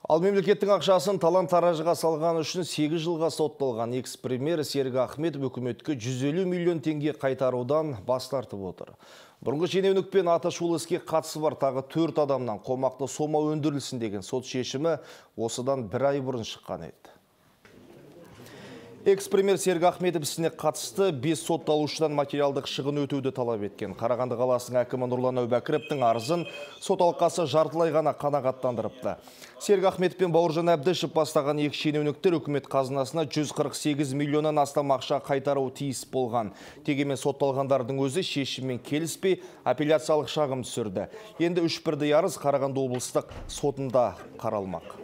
Ал мемлекеттің ақшасын талан-таражыға салған үшін 8 жылға сотталған экс-премьер Серік Ахметов өкіметке 150 миллион теңге қайтарудан бас тартып отыр. Бұрынғы шенеунікпен атышулы іске қатысы бар тағы 4 адамнан қомақты сома өндірілсін деген сот шешімі осыдан 1 ай бұрын шыққан еді. Экс-премьер Серік Ахметов ісіне қатысты 5 сотталушыдан материалдық шығын өтеуді талап еткен. Қарағанды қаласының әкімі Нұрлан Әубәкіровтің арызын сот алқасы жартылай ғана қанағаттандырыпты. Серік Ахметов пен Бауыржан Әбдішев бастаған екі шенеуніктер үкімет қазынасына 148 миллионнан астам ақша қайтаруы тиіс болған. Дегенмен сотталғандардың өзі шешіммен келіспей апелляциялық шағым түсірді. Енді 3 арыз Қарағанды облыстық сотында қаралмақ.